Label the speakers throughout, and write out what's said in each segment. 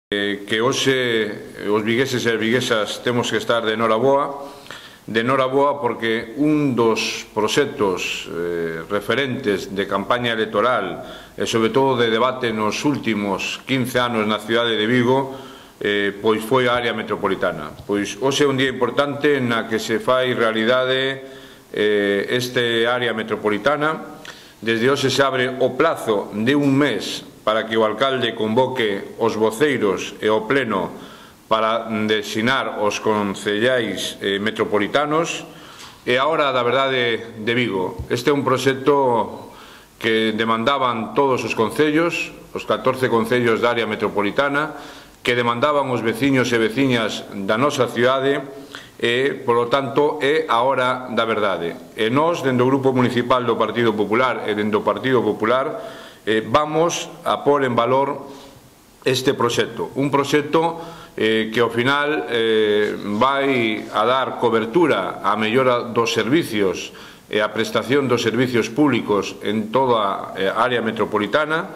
Speaker 1: Que hoxe os vigueses e as viguesas temos que estar de noraboa porque un dos proxectos referentes de campaña electoral e sobre todo de debate nos últimos 15 anos na cidade de Vigo pois foi a área metropolitana. Pois hoxe é un día importante na que se fai realidade este área metropolitana. Desde hoxe se abre o plazo de un mes para que o alcalde convoque os voceiros e o pleno para designar os concellais metropolitanos e a hora da verdade de Vigo. Este é un proxecto que demandaban todos os concellos, os 14 concellos da área metropolitana, que demandaban os veciños e veciñas da nosa cidade e, polo tanto, é a hora da verdade. E nós, dentro do Grupo Municipal do Partido Popular e dentro do Partido Popular, vamos a pôr en valor este proxecto. Un proxecto que ao final vai a dar cobertura á mellora dos servicios e a prestación dos servicios públicos en toda a área metropolitana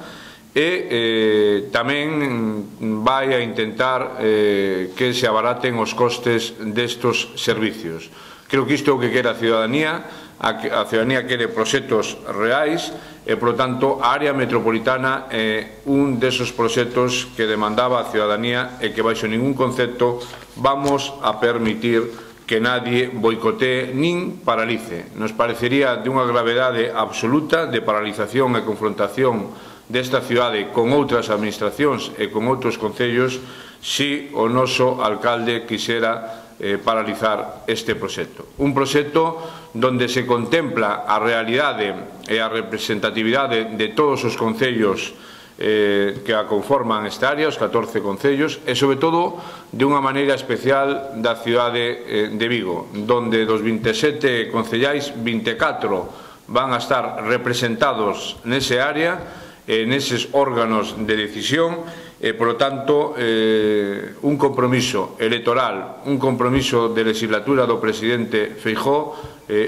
Speaker 1: e tamén vai a intentar que se abaraten os costes destos servicios. Creo que isto é o que quere a ciudadanía. A ciudadanía quere proxectos reais e, polo tanto, a área metropolitana é un desos proxectos que demandaba a ciudadanía e que, baixo ningún concepto, vamos a permitir que nadie boicotee nin paralice. Nos parecería de unha gravedade absoluta de paralización e confrontación desta cidade con outras administracións e con outros concellos se o noso alcalde quixera paralizar este proxecto. Un proxecto donde se contempla a realidade e a representatividade de todos os concellos que a conforman esta área, os 14 concellos, e sobre todo de unha maneira especial da cidade de Vigo, donde dos 27 concellais, 24 van a estar representados nese área, neses órganos de decisión e, polo tanto, un compromiso electoral, un compromiso de legislatura do presidente Feijóo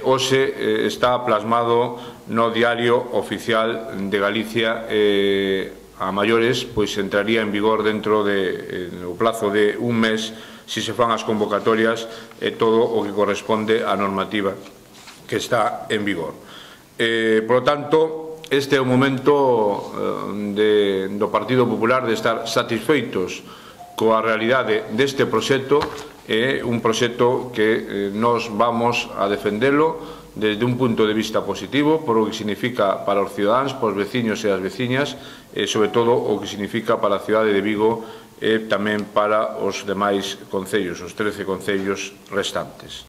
Speaker 1: hoxe está plasmado no Diario Oficial de Galicia a maiores, pois entraría en vigor dentro do plazo de un mes se se fan as convocatorias e todo o que corresponde á normativa que está en vigor. Por lo tanto, este é o momento do Partido Popular de estar satisfeitos coa realidade deste proxecto. É un proxecto que nos vamos a defendelo desde un punto de vista positivo por o que significa para os cidadáns, para os veciños e as veciñas e sobre todo o que significa para a cidade de Vigo e tamén para os demais concellos, os 13 concellos restantes.